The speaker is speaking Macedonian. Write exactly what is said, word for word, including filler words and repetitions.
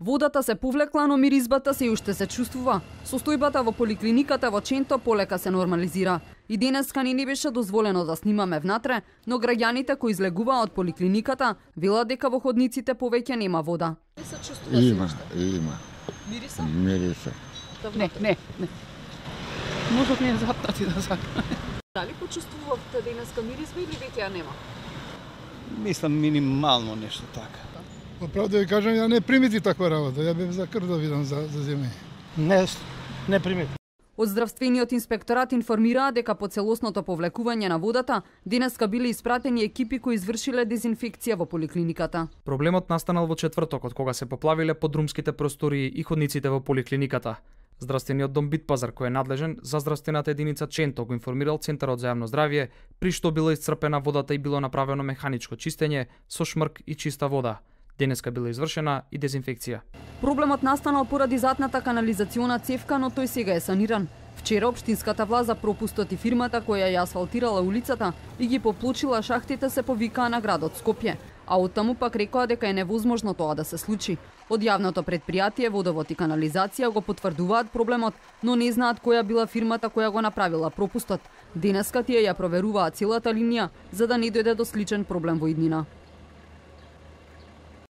Водата се повлекла, но миризбата се уште се чувствува. Состојбата во поликлиниката во Ченто полека се нормализира. И денеска ни не беше дозволено да снимаме внатре, но граѓаните кои излегуваа од поликлиниката велат дека во ходниците повеќе нема вода. Се чувствува Има, има. Мириса? Мириса. Не, не, не. Можат не запнати да сакам. Дали почувствувавте денеска миризба или веќе ја нема? Мислам минимално нешто така. Право да ви кажам, ја не примити таква работа. Ја бев за крв да видам за, за земја. Не, не примити. Од здравствениот инспекторат информираа дека по целосното повлекување на водата денеска биле испратени екипи кои извршиле дезинфекција во поликлиниката. Проблемот настанал во четвртокот кога се поплавиле подрумските простории и ходниците во поликлиниката. Здравствениот дом Битпазар, кој е надлежен за здравствената единица Ченто, го информирал Центарот за јавно здравје, при што била исцрпена водата и било направено механичко чистење со шмрк и чиста вода. Денеска била извршена и дезинфекција. Проблемот настанал поради затната канализациона цевка, но тој сега е саниран. Вчера општинската власт за пропустот и фирмата која ја асфалтирала улицата и ги поплочила шахтите се повикаа на градот Скопје, а оттаму пак рекоа дека е невозможно тоа да се случи. Од јавното предпријатие Водовод и канализација го потврдуваат проблемот, но не знаат која била фирмата која го направила пропустот. Денеска тие ја проверуваат целата линија за да не дојде до сличен проблем во иднина.